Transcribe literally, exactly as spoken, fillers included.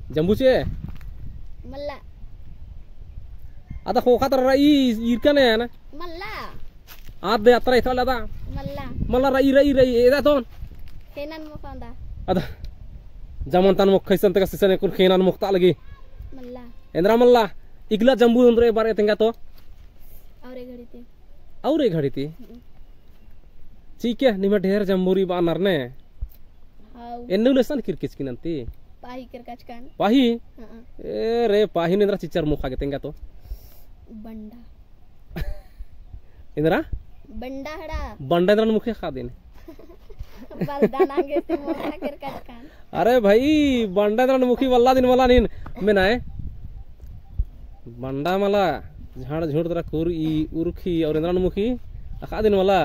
जम्बू चिए? मल्ला। अदा ख़ोख़ा तरा रई ईरका ने ना? मल्ला। आद दे अतरा इथरा लदा? मल्ला। मल्ला रई, रई, रई, एदा तोन? ख़ेनन मोख़ा दा। अदा। जमन तन मोख़ा इसन तक सिसन एकुन ख़ेनन मोख़ता लगी। मल्ला। एन्दरा मल्ला। इकला जम्बू उन्दरे बारे तेंगा तो? और एक घड़ी ती। और एक घड़ी ती? हम्म। ठीक है, निम्है ढेर जम्बू रई बअनर ने। हाउ। एन्ने उल्ला इसन किरकचकी नन्ती? पाही किरकचकन। पाही? हाँ। ए रे, पाही नू एन्दरा चिच्चर मोख़ा गे तेंगा तो? बंडा। एन्दरा? बंडा हड़ा। बंडा एन्दरा मुखी ख़ादिन। बलदा नागे से मोख़ा किरकचकन। अरे भाई, बंडा एन्दरा मुखी बल्ला दिन मला नीन। मेनाय? बंडा मला, झाड़ झूड़ तरा कुरई, उरखी, और एन्दरा मुखी, अख़ा दिन मला।